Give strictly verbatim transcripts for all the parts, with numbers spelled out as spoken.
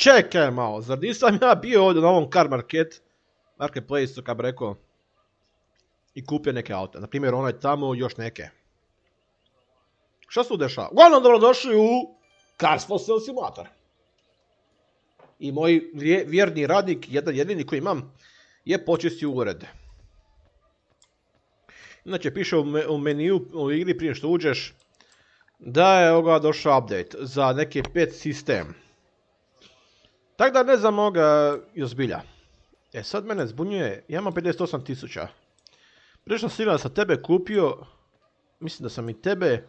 Čekaj malo, zar nisam ja bio ovdje na ovom car market, marketplace-u, kad bi rekao, i kupio neke aute. Naprimjer, onaj tamo, još neke. Šta se tu dešava? Uglavnom, dobrodošli u Cars for Sale Simulator. I moj vjerni radnik, jedan jedini koji imam, je počistio ured. Inače, piše u meniju u igri prije što uđeš da je ovoga došao update za neke pet sistem. Tako da ne znam ovoga i ozbilja. E sad mene zbunjuje, ja imam pedeset osam tisuća. Prije što sam sa tebe kupio, mislim da sam i tebe,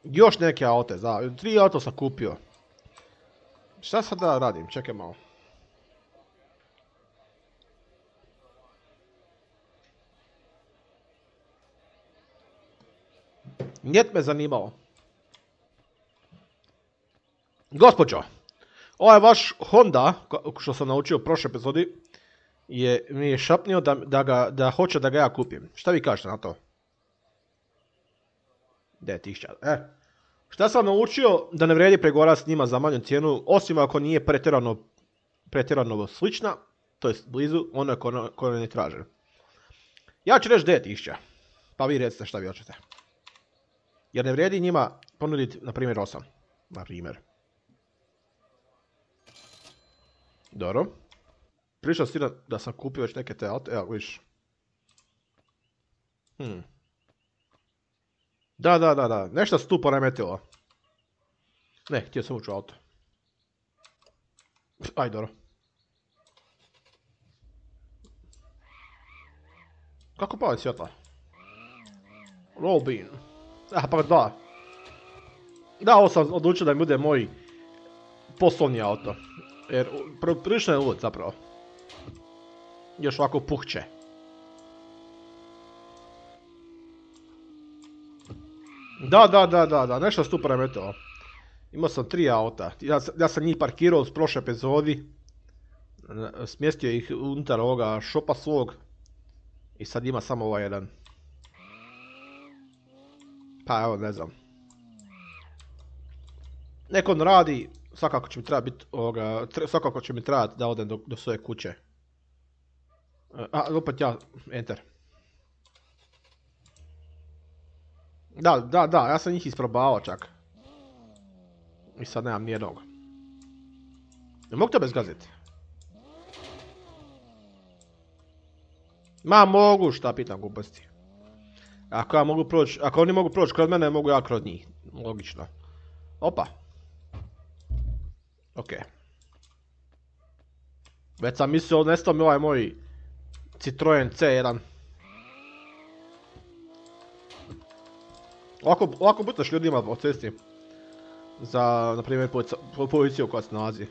još neke aute, da, tri auto sam kupio. Šta sad da radim, čekaj malo. Njet me zanimalo. Gospođo, ovaj vaš Honda, što sam naučio u prošloj epizodi, je, mi je šapnio da, da, ga, da hoće da ga ja kupim. Šta vi kažete na to? De, tisuća. E, šta sam naučio da ne vredi pregovarati s njima za manju cijenu, osim ako nije pretjerano, pretjerano slična, to jest blizu, ono je koje ne traže. Ja ću reći devet tisuća, pa vi recite šta vi hoćete. Jer ne vredi njima ponuditi, na primjer, osam. Na primjer. Dobro. Pričao si da sam kupio već neke te aute, evo viš. Hmm. Da, da, da, da, nešto se tu poremetilo. Ne, htio sam ući u auto. Aj, dobro. Kako pali svjetla? Roll bean. Aha, pa da. Da, ovo sam odlučio da mi bude moj poslovni auto. Jer prilično je lud zapravo. Još ovako puhće. Da, da, da, da, da, nešto se tu premetilo. Imao sam tri auta. Ja, ja sam njih parkirao s prošle epizodi. Smjestio ih unutar ovoga šopa svog. I sad ima samo ovaj jedan. Pa evo, ne znam. Nek on radi, svakako će mi trebati biti ovoga, svakako će mi trebati da odem do, do svoje kuće. A, opet ja, enter. Da, da, da, ja sam njih isprobavao čak. I sad nemam nijednog. Ne mogu tebe zgaziti? Ma mogu, šta pitam gluposti. Ako ja mogu proći, ako oni mogu proći kroz mene, mogu ja kroz njih. Logično. Opa. Okej. Već sam mislio, nestao mi ovaj moj Citroen C jedan. Ovako, ovako butaš ljudima po cesti. Za, na primjer, policiju koja se nalazi.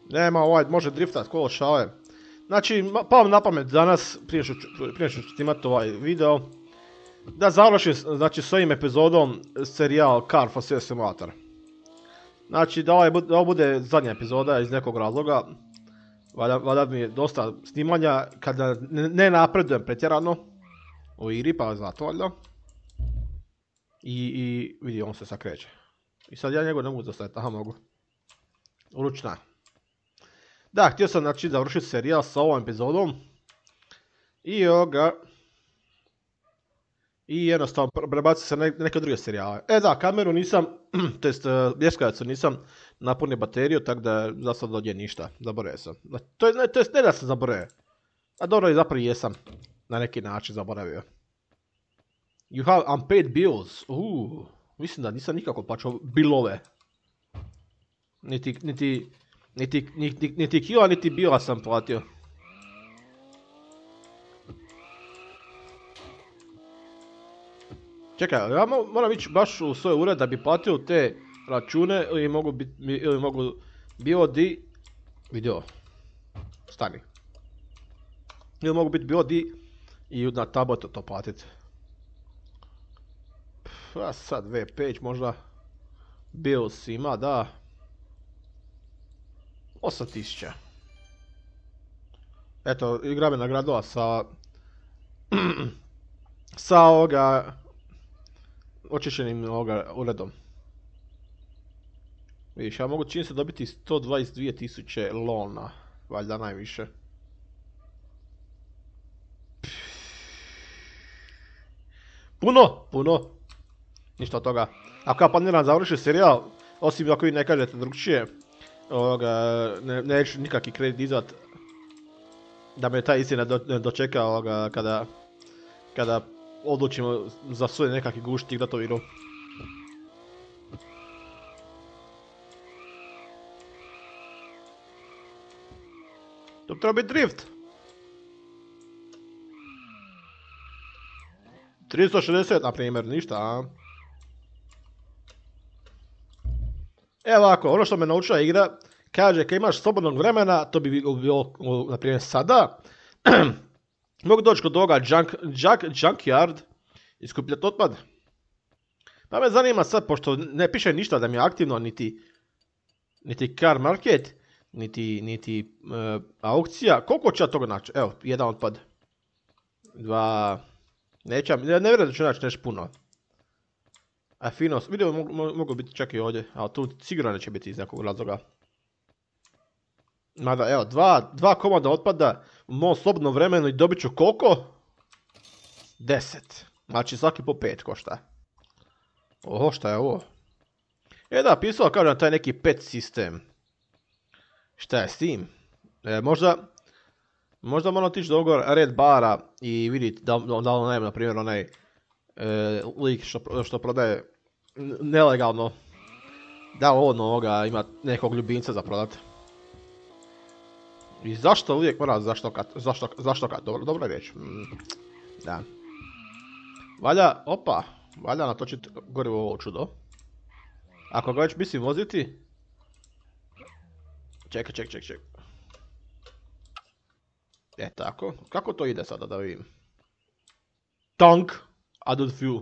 Nema, ovaj može driftat kolo šale. Znači, pao mi na pamet danas, prije što, prije što ću snimati ovaj video, da završim, znači, s ovim epizodom serijal Car for Sale Simulator. Znači, da, ovaj, da ovo bude zadnja epizoda iz nekog razloga. Valjda mi je dosta snimanja kada ne napredujem pretjerano u igri, pa zato valjda. I, i vidi, on se sad kreće. I sad ja njegov ne mogu zastaviti, aha mogu. Ručna. Da, htio sam znači završiti serijal sa ovom epizodom. I ovoga. I jednostavno prebaciti se na neke druge serijale. E da, kameru nisam, to jest bljeskavicu nisam napunio bateriju, tako da za sad ovdje ništa, zaboravio sam. To je, ne, to jest ne da sam zaboravio. A dobro, zapravo jesam na neki način zaboravio. You have unpaid bills. Uuu, mislim da nisam nikako plaćao bilove. Niti, niti, niti, niti, niti kila, niti bila sam platio. Čekaj, ja moram ići baš u svoj ured da bi platio te račune ili mogu biti, ili mogu bilo di, vidio, stani. Ili mogu biti bilo di i na tabletu to platiti. A sad web page možda, bills ima, da. osam tisuća. Eto, igra me nagradila sa, sa ovoga, očišćenim ovoga uredom. Vidiš, ja mogu čini se dobiti sto dvadeset dvije tisuće lona, valjda najviše. Puno, puno. Ništa od toga. Ako ja planiram završiti serijal, osim ako vi ne kažete drugčije, ovoga, ne, neću nikakvi kredit dizat da me ta istina do, dočeka ovoga, kada, kada odlučimo za svoj nekakvi gušt igrat ovu igru. To treba biti drift. tristo šezdeset na primjer, ništa, a? Evo ovako, ono što me naučila igra, kaže kad imaš slobodnog vremena, to bi bilo, na primjer sada, mogu doći kod ovoga junk, junk, junkyard i skupljati otpad. Pa me zanima sad, pošto ne piše ništa da mi je aktivno, niti, niti car market, niti, niti uh, aukcija, koliko će ja toga naći? Evo, jedan otpad. Dva... Neće, ne vjerujem da ću naći nešto puno. A fino, vidio mogu, mogu biti čak i ovdje, ali tu sigurno neće biti iz nekog razloga. Mada, evo, dva, dva komada otpada u mom slobodnom vremenu i dobit ću koliko? Deset. Znači svaki po pet košta. Oho, šta je ovo? E da, pisao kažem taj neki pet sistem. Šta je s tim? E, možda... Možda moram otići do ovog red bara i vidjeti da, da ono najem, na primjer, onaj e, lik što, što prodaje nelegalno. Da on ovoga ima nekog ljubimca za prodat. I zašto uvijek mora zaštokat, zašto, zaštokat, dobro, dobra riječ. Mm, da. Valja, opa, valja natočiti gorivo ovo čudo. Ako ga već mislim voziti... Čekaj, čekaj, čekaj, čekaj. E tako, kako to ide sada da vidim? Tank, added fuel.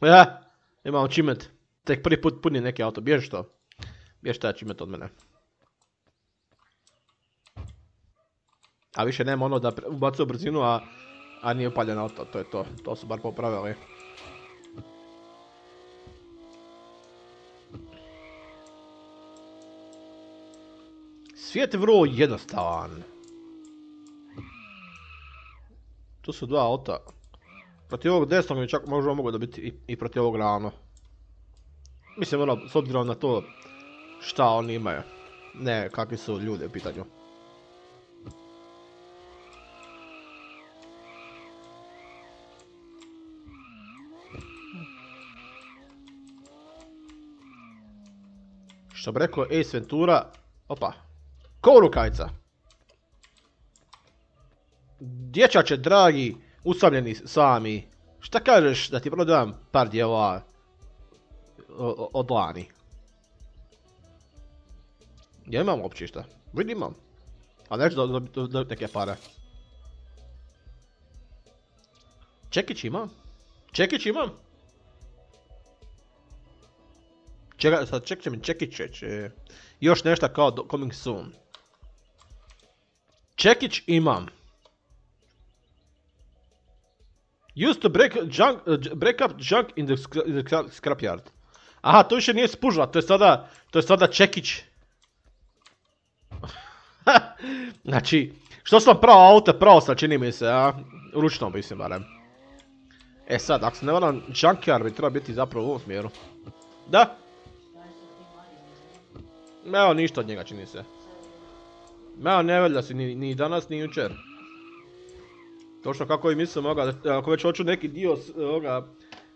Ja, imam achievement. Tek prvi put punim neki auto, bježi to. Bježi taj achievement od mene. A više nema ono da ubacuju brzinu, a, a nije upaljen auto, to je to. To su bar popravili. Svijet je vrlo jednostavan. Tu su dva auta. Protiv ovog desnog mi čak možda mogu dobiti i, i protiv ovog ravno. Mislim ono, s obzirom na to šta oni imaju. Ne, kakvi su ljudi u pitanju. Što bi rekao Ace Ventura, opa. Ko rukajca? Dječače dragi, usamljeni sami, šta kažeš da ti prodam par djela od lani? Ja imam uopće šta, vidim imam, ali neću dobiti neke pare. Čekić imam? Čekić imam? Čega, sad ček će mi Čekić reći, još nešto kao do, coming soon. Čekić imam. Used to break, junk, uh, break up junk in the, in the scrapyard. Aha, to više nije spužva, to je sada, to je sada Čekić. Znači, što sam pravo auto, pravo sam čini mi se, a? Ručno mislim barem. E sad, ako se ne varam, junkyard bi treba biti zapravo u ovom smjeru. Da? Evo ništa od njega čini se. Evo ne velja si ni, ni danas ni jučer. Točno kako i mislim ovoga, ako već hoću neki dio ovoga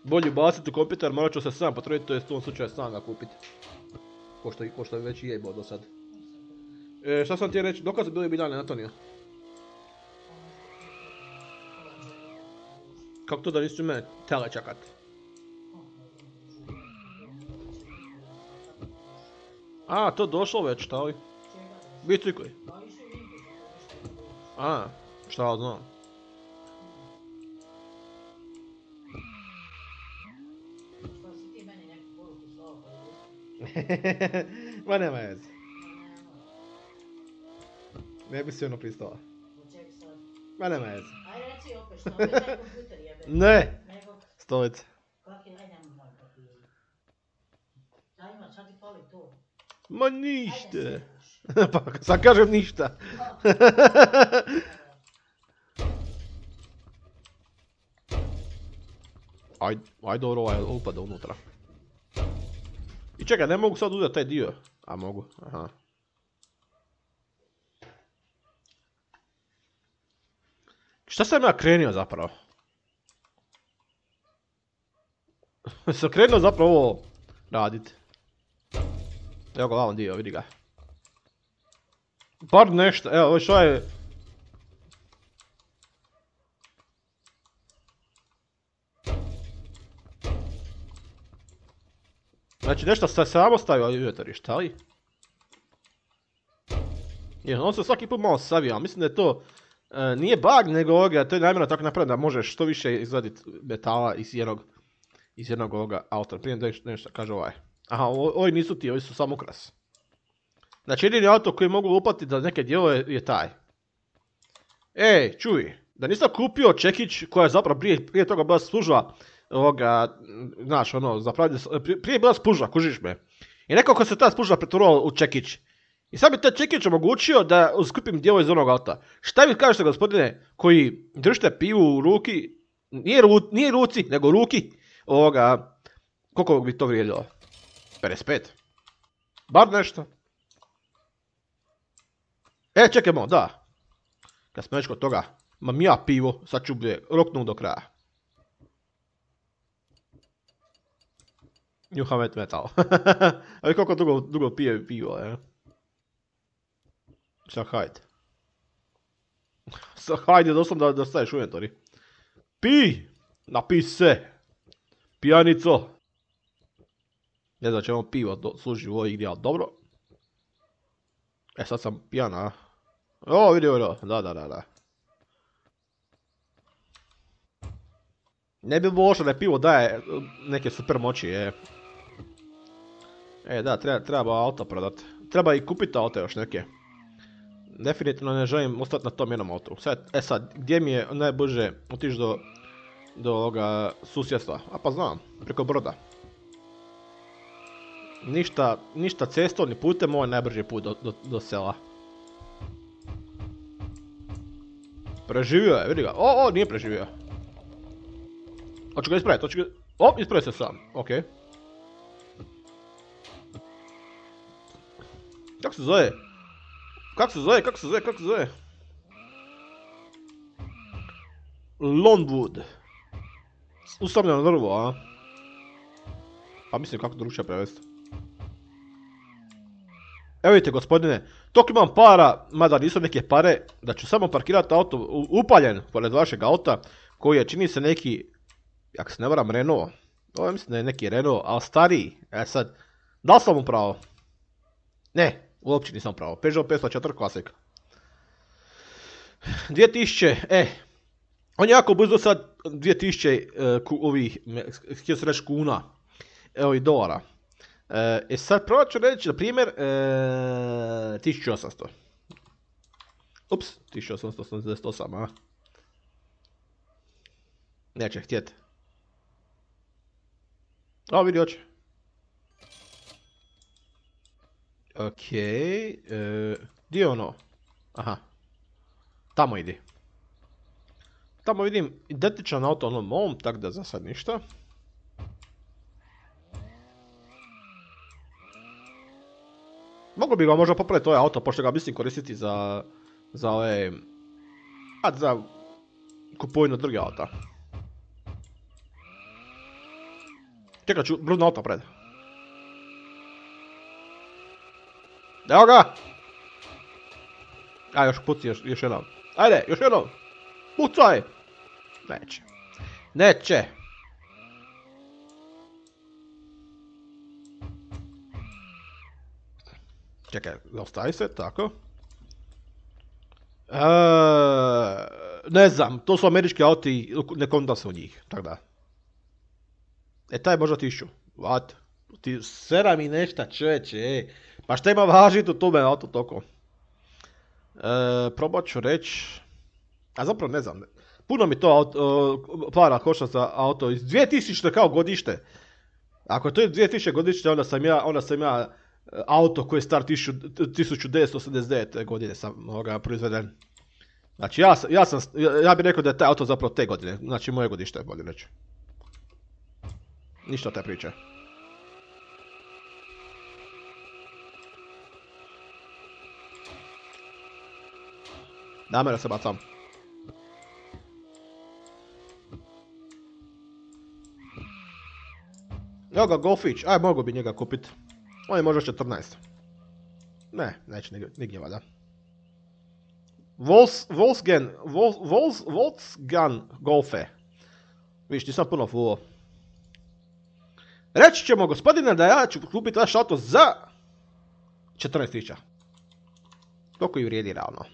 bolje baciti u kompjuter, morat ću se sam potruditi, to je u tom slučaju sam ga kupiti. Ko što, ko što već i je imao do sad. E, šta sam ti reći, dokad su bili Biljane, Antonio? Kako to da nisu mene tele čakat? A, to došlo već, šta li? Bicikli. A, šta ja znam. Ma nema veze. Ne bi si ono pristala. Ma nema veze. Aj reci opet što, opet taj kompjuter jebe. Ne. Nego, Stolice. kak je, ajde nam malo papiri. Šta ima, šta ti fali to? Ma ništa. Ajde, Pa sad kažem ništa. Ajde, ajde dobro ovaj upada unutra. I čekaj, ne mogu sad uzeti taj dio. A mogu, aha. Šta sam ja krenio zapravo? Sam krenuo zapravo ovo radit. Evo ga vam dio, vidi ga. Bar nešto, evo, ovo što je... Znači nešto se samo stavio unutar, šta li? Je, on se svaki put malo savio, ali mislim da je to... E, nije bug, nego ovoga, to je namjerno tako napravljeno da možeš što više izgledati metala iz jednog... Iz jednog ovoga auta, prije nešto, nešto kaže ovaj. Aha, o, ovi nisu ti, ovi su samo ukras. Znači jedini auto koji mogu lupati za neke dijelove je taj. Ej, čuj, da nisam kupio čekić koja je zapravo prije, prije toga bila služba ovoga, znaš ono, zapravo, prije, prije je bila spuža, kužiš me. I nekako se ta spuža pretvorila u čekić. I sad bi taj čekić omogućio da skupim dijelove iz onog auta. Šta vi kažete gospodine koji držite pivu u ruki, nije, ru, nije ruci, nego ruki, ovoga, koliko bi to vrijedilo? pedeset pet. Bar nešto. E, čekajmo, da. Kad smo već kod toga, mam ja pivo, sad ću bi roknu do kraja. New Hamet Metal. Ali koliko dugo, dugo pije pivo, je. Sad hajde. Sad hajde doslovno da, da staješ u inventori. Pi! Napij se! Pijanico! Ne znam će vam pivo do, služi u ovoj igri, ali dobro. E sad sam pijana, a? O, vidi ovo, da, da, da, da. Ne bi bilo loše da pivo daje neke super moći, je. E, da, treba, treba auto prodat. Treba i kupiti auto još neke. Definitivno ne želim ostati na tom jednom autu. Sad, e sad, gdje mi je najbrže otići do, do ovoga susjedstva? A pa znam, preko broda. Ništa, ništa cestovni putem, ovo je najbrži put do, do, do sela. Preživio je, vidi ga. O, o, nije preživio. Hoću ga ispraviti, hoću ga... O, ispravio se sam, okej. Kako se zove? Kako se zove, kako se zove, kako se zove? Longwood. Usamljeno drvo, a? Pa mislim kako drugčije prevesti. Evo vidite gospodine, toliko imam para, mada nisu neke pare, da ću samo parkirati auto upaljen pored vašeg auta, koji je čini se neki, ako se ne varam, Renault. Ovo mislim da je neki Renault, ali stariji. E sad, da li sam mu pravo? Ne, uopće nisam pravo. Peugeot petsto četiri Classic. dvije tisuće, e, on je jako brzo sad dvije tisuće uh, ku, ovih, htio se reći kuna, evo i dolara. E sad probat ću reći, na primjer, e, tisuću osamsto. Ups, tisuću osamsto osamdeset osam, a? Neće htjeti. O, vidi, hoće. Okej, e, gdje je ono? Aha. Tamo idi. Tamo vidim identičan auto onom mom, tak da za sad ništa. Mogu bi ga možda popraviti ovaj auto, pošto ga mislim koristiti za... Za ove... Za kupovinu druge auta. Čekaj ću, brudno auto pred. Evo ga! A, još puci, još, još jednom. Ajde, još jednom! Pucaj! Neće. Neće! Čekaj, ostavi se, tako. E, ne znam, to su američki auti, ne kontam se u njih, tako da. E, taj možda tišću. What? Ti sera mi nešta, čeće, ej. Pa šta ima važiti u tome auto toko? E, probat ću reći... A zapravo ne znam. Puno mi to auto, para košta za auto. Iz dvije tisuće kao godište. Ako je to dvije tisuće godište, onda sam ja, onda sam ja auto koji je star tisuću devetsto osamdeset devete godine sam ovoga proizveden. Znači ja, ja, sam, ja, ja bih rekao da je taj auto zapravo te godine. Znači moje godište je bolje reći. Ništa o te priče. Namjerno se bacam. Evo ga Golfić, aj mogu bi njega kupit. On je možda četrnaest. Ne, neće nigdje vada. Vols, Volksgen, Vols, Vols, Volksgen Golfe. Viš, nisam puno fulo. Reći ćemo gospodine da ja ću kupiti vaš auto za četrnaest tisuća. Toliko i vrijedi ravno.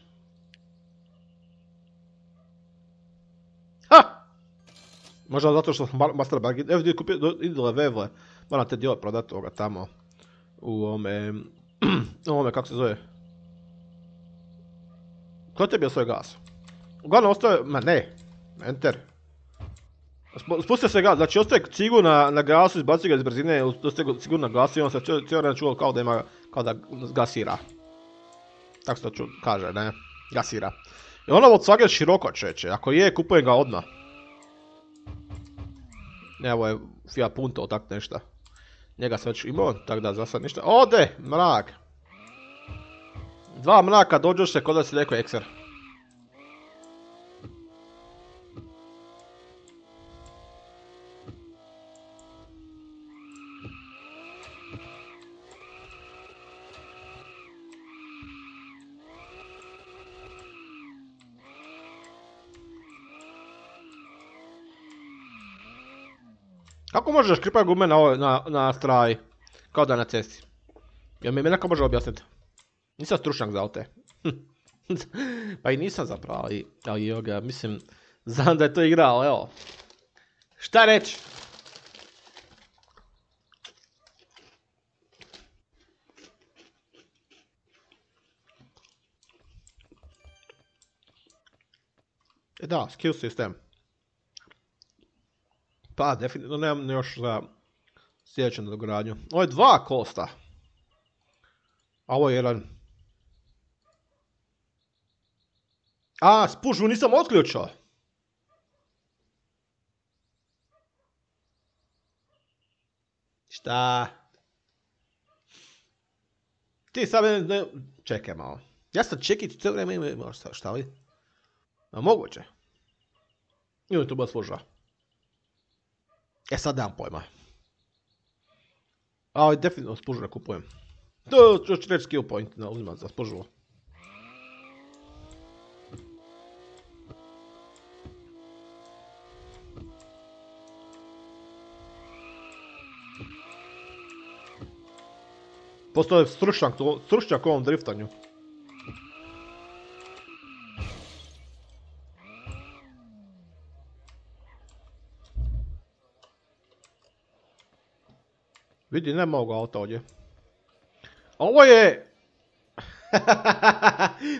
Ha! Možda zato što sam master bargain. Evo gdje kupio idole vevle. Moram te dijele prodati ovoga tamo. U ovome... u ovome, kako se zove? Ko je tebi osvoje gas? Uglavnom ostaje... Ma ne. Enter. Spustio se gas. Znači ostaje cigu na, na gasu, izbacio ga iz brzine, ostaje cigu na gasu i on se cijelo vreme čuo kao da ima... kao da gasira. Tako se to ču, kaže, ne? Gasira. I ono Volkswagen široko čeče. Ako je, kupujem ga odmah. Evo je Fiat Punto, tak nešto. Njega sam već imao, tak da za sad ništa. Ode, mrak. Dva mraka dođoš se kod da si rekao ekser. Kako možeš škripati gume na, na, na straj? Kao da je na cesti. Jel mi neko može objasniti? Nisam stručnjak za aute. Pa i nisam zapravo, ali, ali joga, mislim, znam da je to igra, ali evo. Šta reći? E da, skill system. Pa, definitivno nemam još za sljedeću nadogradnju. Ovo je dva kosta. A ovo je jedan. A, spužvu nisam otključao. Šta? Ti sad ne... Čekaj malo. Ja sam čekiti cijelo vrijeme ima šta li? A moguće. Ili to bila služba. E sad nemam pojma. Ali definitivno spužu kupujem. To ću reći skill point ne uzimam za spužu. Postoje stručnjak, stručnjak u ovom driftanju. Vidi, nema ovoga auta ovdje. Ovo je...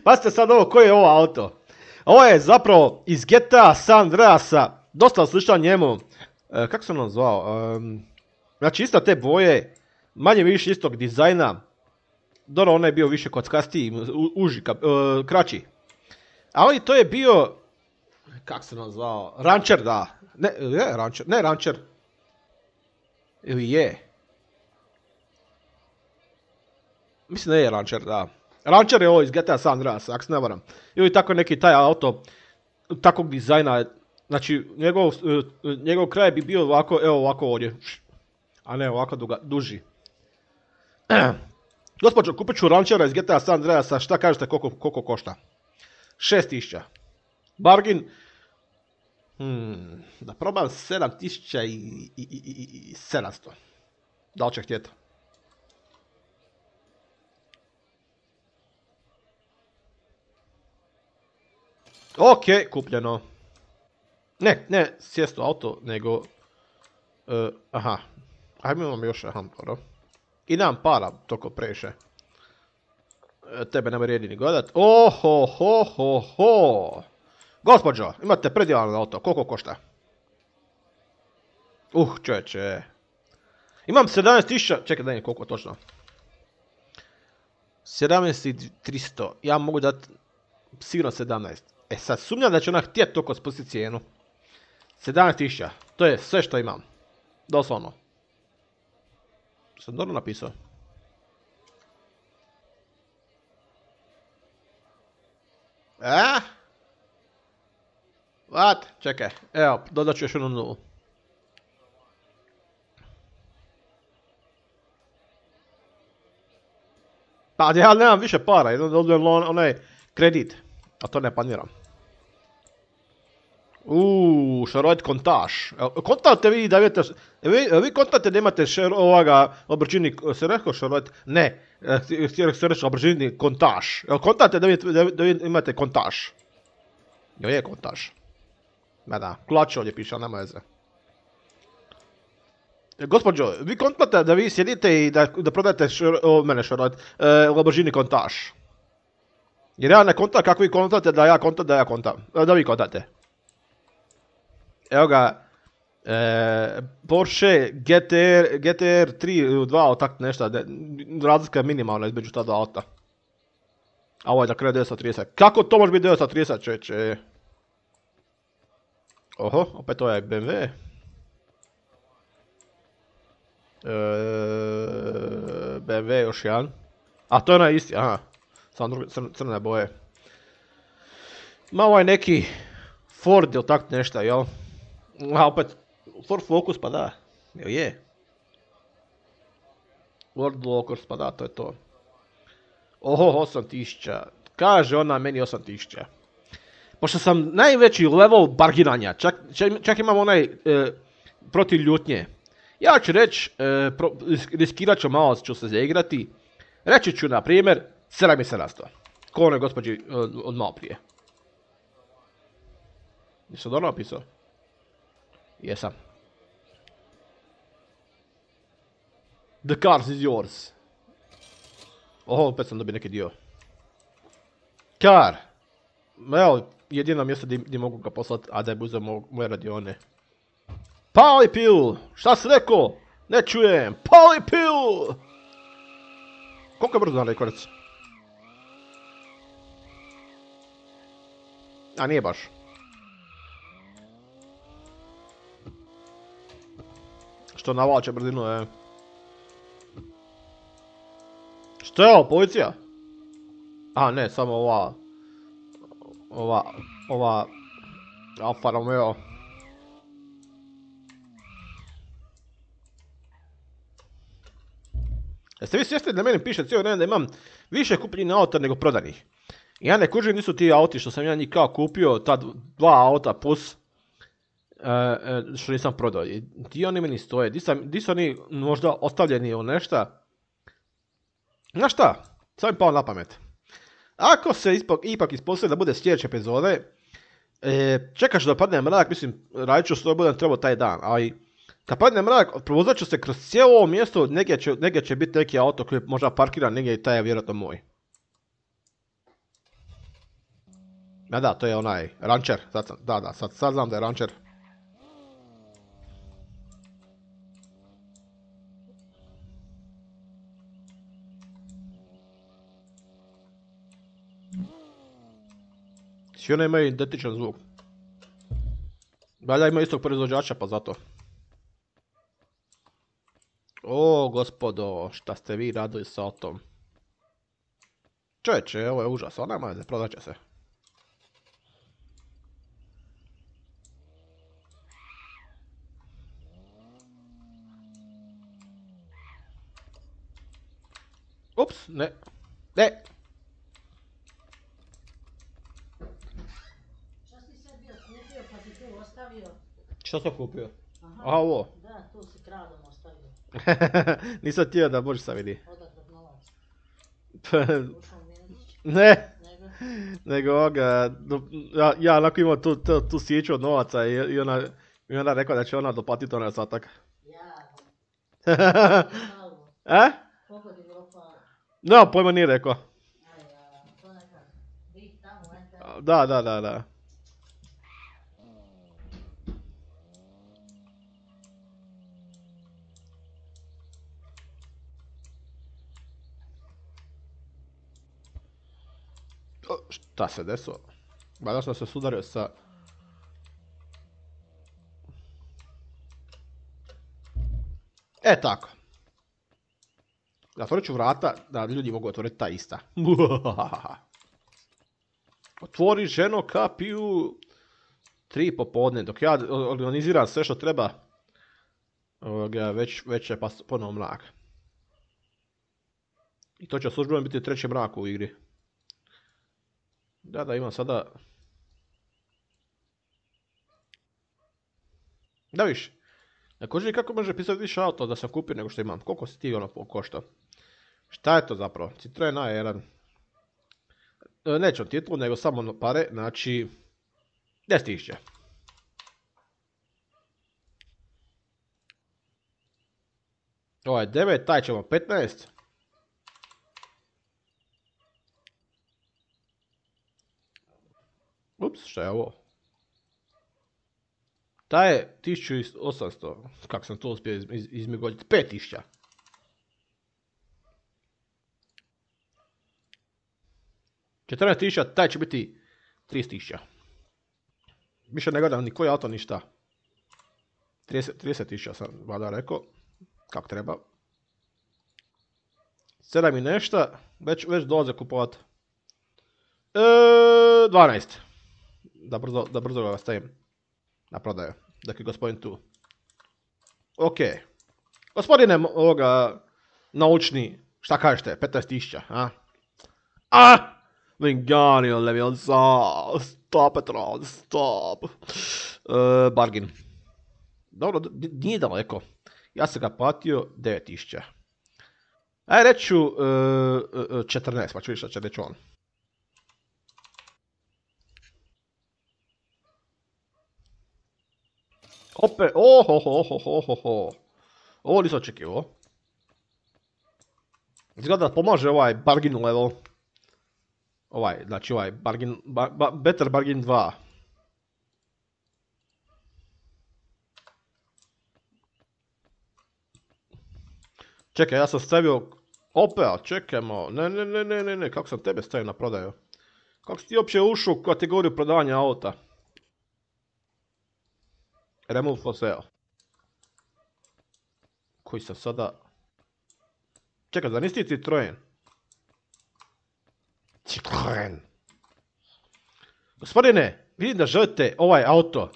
Pazite sad ovo, koji je ovo auto? Ovo je zapravo iz G T A San Andreasa. Dosta slično njemu. E, kako sam on zvao? E, znači isto te boje. Manje više istog dizajna. Dobro, on je bio više kockastiji, uži, ka, e, kraći. Ali to je bio... Kako se on zvao? Rancher, da. Ne, je Rancher. Ne, Rancher. Ili je. Mislim da je Rancher, da. Rancher je ovo iz G T A San Andreas, ako se ne varam. Ili tako neki taj auto, takvog dizajna, znači njegov, njegov kraj bi bio ovako, evo ovako ovdje. A ne ovako duga, duži. Gospođo, kupit ću Ranchera iz G T A San Andreasa, šta kažete koliko, koliko košta? šest tisuća. Bargain, hmm, da probam sedam tisuća sedamsto. Da li će htjeti? Ok, kupljeno. Ne, ne sjest u auto, nego... Uh, aha. Ajme imam još, aha, dobro. I nemam para, toko preše. E, tebe nema vrijedi ni gledat. Oho, ho, ho, ho. Gospođo, imate predivan auto, koliko košta? Uh, čovječe. Imam sedamnaest tisuća, čekaj da je koliko točno. sedamnaest tisuća tristo, ja mogu dati sigurno sedamnaest. E sad sumnjam da će ona htjeti toliko spustiti cijenu. sedamnaest tisuća, to je sve što imam. Doslovno. Sam dobro napisao. E? What? Čekaj, evo, dodat ću još jednu nulu. Pa ja nemam više para, jedno da odbijem onaj kredit, a to ne planiram. Uuu, šarojt kontaž. Kontate vi da vidite, vi, vi kontate da imate šer, ovoga, obračini, se rekao šarojt? Ne, htio se reći obračini kontaž. Kontate da vi, da, da vi imate kontaž. Jo je kontaž. Ma da, klače ovdje piše, ali nema veze. Gospođo, vi kontate da vi sjedite i da, da prodajete šer, o, mene šarojt, e, obračini kontaž. Jer ja ne kontam kako vi kontate da ja kontam da ja kontam, da vi kontate. Evo ga, e, Porsche G T R, G T R tri dva, tak nešto, razlika je minimalna između ta dva auta. A ovo je da krene devetsto trideset. Kako to može biti devetsto trideset, čeče? Oho, opet ovaj B M W. E, B M W još jedan. A to je onaj isti, aha. Samo druge crne boje. Ma ovaj neki Ford ili tak nešto, jel? A opet, Ford Focus, pa da, jel je? Ford Focus, pa da, to je to. Oho, osam tisuća, kaže ona meni osam tisuća. Pošto sam najveći level bargiranja, čak, čak, čak imam onaj e, protiv ljutnje. Ja ću reći, e, riskirat ću malo ću se zaigrati. Reći ću na primjer sedam tisuća sedamsto. Ko onoj gospođi od, od malo prije. Nisam dobro napisao? Jesam. The cars is yours. Oho, opet sam dobio neki dio. Car. Evo, jedino mjesto gdje mogu ga poslati, a da je uzeo moje radione. Pali pil! Šta si rekao? Ne čujem! Pali pil! Koliko je brzo na rekordec? A nije baš. Što navlače brzinu, je. Što je ovo, policija? A ne, samo ova... Ova... Ova... Alfa Romeo. Jeste vi svjesni da meni piše cijelo vrijeme da imam više kupljenih auta nego prodanih? Ja ne kužim nisu ti auti što sam ja njih kao kupio, ta dva auta plus... Uh, što nisam prodao. Di oni meni stoje? Di, sam, di su oni možda ostavljeni u nešta? Znaš šta? Sad mi pao na pamet. Ako se ispak, ipak ispostavi da bude sljedeće epizode, e, čekaš da padne mrak, mislim, radit ću što budem trebao taj dan, ali kad padne mrak, provozat ću se kroz cijelo ovo mjesto, negdje će, negdje će biti neki auto koji možda parkira negdje i taj je vjerojatno moj. Ja da, to je onaj Rancher, sad sam, da, da, sad, sad znam da je Rancher. Svi one imaju identičan zvuk. Valjda ima istog proizvođača pa zato. O gospodo, šta ste vi radili sa autom? Čovječe, ovo je užas, ona nema veze, prodat će se. Ups, ne. Ne. Šta si sad bio kupio pa si tu ostavio? Što sam kupio? Aha. A ovo? Da, tu si kradom ostavio. Nisam htio da Boži sam vidi. Odakle novac. Ušao Miletić. Ne. Nego? Nego ovoga, ja, ja onako imao tu, tu, tu sjeću od novaca i, i, ona, i ona rekla da će ona doplatiti onaj ostatak. Ja. E? Koliko ti bilo palo? No, pojma nije rekao. Aj, ja, to nekak. Bih tamo, eto. Da, da, da, da. Šta se desilo? Valjda sam se sudario sa... E tako. Zatvorit ću vrata da ljudi mogu otvoriti ta ista. Otvori ženo kapiju tri popodne, dok ja organiziram sve što treba. Ovoga, već, već je pa ponovo mrak. I to će službeno biti treći mrak u igri. Da, da, imam sada... Da viš. Također kako može pisati više auto da sam kupio nego što imam. Koliko si ti ono košta? Šta je to zapravo? Citroen A jedan. E, neću titulu, nego samo pare, znači... deset tisuća. Ovo je devet, taj ćemo petnaest. Ups, šta je ovo? Taj je tisuću osamsto, kako sam to uspio izmigoljiti, pet tisuća. četrnaest tisuća, taj će biti trideset tisuća. Više ne gledam ni koji auto, ništa. trideset tisuća sam vada rekao, kako treba. sedam i nešta, već, već dolaze kupovat. E, dvanaest. Da brzo, da brzo ga stavim na prodaju, dok je gospodin tu. Ok. Gospodine ovoga naučni, šta kažete, petnaest tisuća, a? A! Vinganio Leviosa, stop Petron, stop. Uh, bargain. Dobro, nije daleko. Ja sam ga platio devet tisuća. Aj reću uh, četrnaest, pa ću više šta će reći on. Opet, oho, ho, ho, ho, ho, ho. Ovo nisam očekivao. Izgleda da pomaže ovaj bargain level. Ovaj, znači ovaj, bargain, ba, ba, better bargain dva. Čekaj, ja sam stavio, opet, čekajmo, ne, ne, ne, ne, ne, ne, kako sam tebe stavio na prodaju? Kako si ti uopće ušao u kategoriju prodavanja auta? Remove for sale. Koji sam sada... Čekaj, da nisi ti Citroen? Citroen. Gospodine, vidim da želite ovaj auto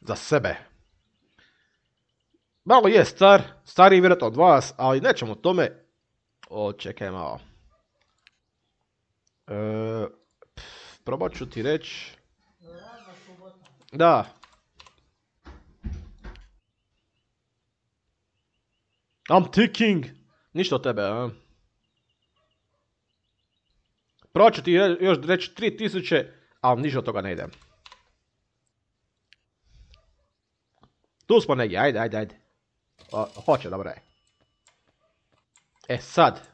za sebe. Malo je star, stariji vjerojatno od vas, ali nećemo o tome. O, čekaj malo. E, pf, probat ću ti reći. Da. I'm thinking. Ništa od tebe, a? Probat ću ti još reći tri tisuće, ali ništa od toga ne idem. Tu smo negdje, ajde, ajde, ajde. O, hoće, dobro je. E sad.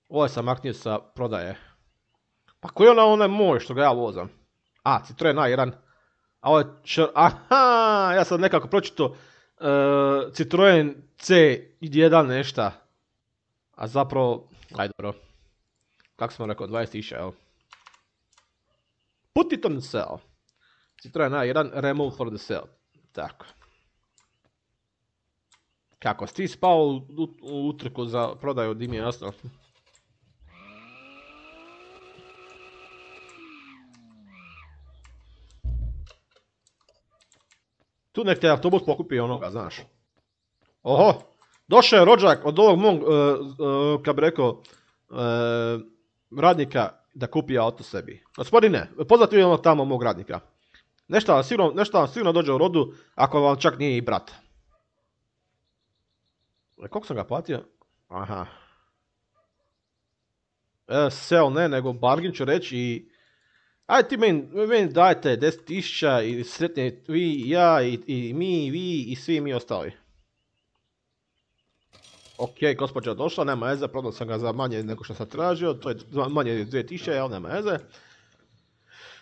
Ovo sam maknio sa prodaje. Pa koji je ona onaj moj što ga ja vozam? A, Citroen A jedan. A ovo je čr... Aha, ja sam nekako pročito uh, Citroen C jedan nešta. A zapravo, ajde dobro. Kako smo rekao, dvadeset tisuća, evo. Put it on the sale. Citroen A jedan, remove for the sale. Tako. Kako si ti spao u, u, u utrku za prodaju, di mi je jasno. Tu nek te autobus pokupi onoga, znaš. Oho, došao je rođak od ovog mog, uh, uh, kad bi rekao, uh, radnika da kupi auto sebi. Gospodine, poznati vi ono tamo mog radnika. Nešto vam sigurno, nešto vam sigurno dođe u rodu, ako vam čak nije i brat. E, koliko sam ga platio? Aha. E, sell ne, nego bargain ću reći i... Ajde ti meni, meni dajte deset tisuća i sretni vi i ja i, i mi i vi i svi mi ostali. Ok, gospođa došla, nema veze, prodao sam ga za manje nego što sam tražio, to je manje dvije tisuće, jel, nema veze.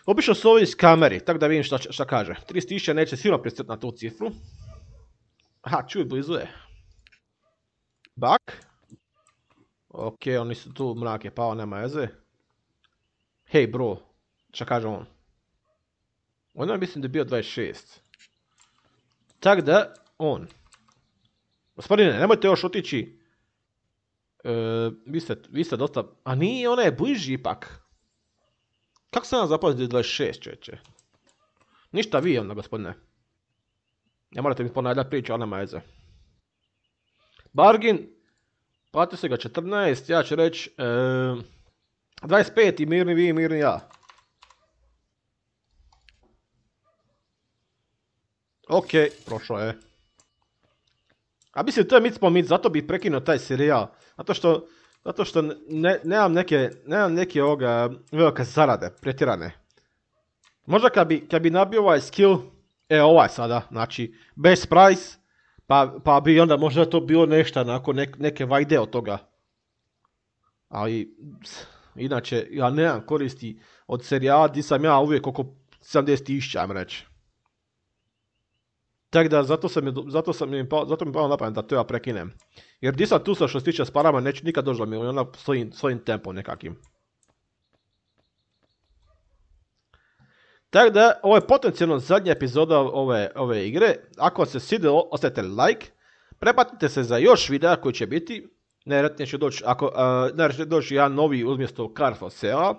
Obično su ovi iz kameri, tako da vidim šta, šta kaže. trideset tisuća neće sigurno pristati na tu cifru. Aha, čuj, blizu je. Bak. Ok, oni su tu, mrak je pao, nema veze. Hej bro, Šta kaže on? Ono mislim da je bio dvadeset šest. Tak da, on. Gospodine, nemojte još otići. E, vi, ste, vi ste dosta... A nije, ona je bliži ipak. Kako sam vam zapazio da je dvadeset šest, čovječe? Ništa vi onda, gospodine. Ne morate mi ponavljati priču, ona nema veze. Bargain. Platio se ga četrnaest, ja ću reći... E, dvadeset pet i mirni vi i mirni ja. Ok, prošlo je. A mislim, to je mit po mit, zato bih prekinuo taj serijal. Zato što, zato što ne, nemam neke, nemam neke ovoga, velike zarade, pretjerane. Možda kad bi, kad bi nabio ovaj skill, e ovaj sada, znači, best price, pa, pa bi onda možda to bilo nešto, nakon ne, neke vajde od toga. Ali, inače, ja nemam koristi od serijala, di sam ja uvijek oko sedamdeset tisuća, ajmo reći. Tako da, zato, sam, zato, sam mi, zato mi palo na pamet da to ja prekinem. Jer di sam tu sa što se tiče s parama, neću nikad doći do miliona svojim, svojim tempom nekakim. Tako da, ovo je potencijalno zadnja epizoda ove, ove igre. Ako vam se svidjelo, ostavite like. Prepatite se za još videa koji će biti. Najvjerojatnije će doći, ako, uh, će doći jedan novi umjesto Car for Sale.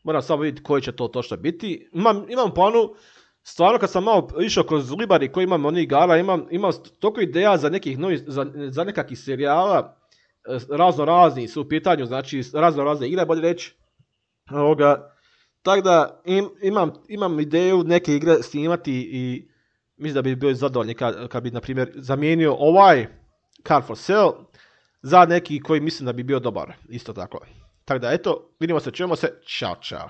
Moram samo vidjeti koji će to točno biti. Imam, imam planu. Stvarno kad sam malo išao kroz Libari koji imam onih igara, imam, imam toliko ideja za nekih novih, za, za nekakvih serijala, razno razni su u pitanju, znači razno razne igre, bolje reći. Tako da im, imam, imam ideju neke igre snimati i mislim da bi bio zadovoljni kad, kad bi, na primjer, zamijenio ovaj Car for Sale za neki koji mislim da bi bio dobar, isto tako. Tako da eto, vidimo se, čujemo se, čao čao.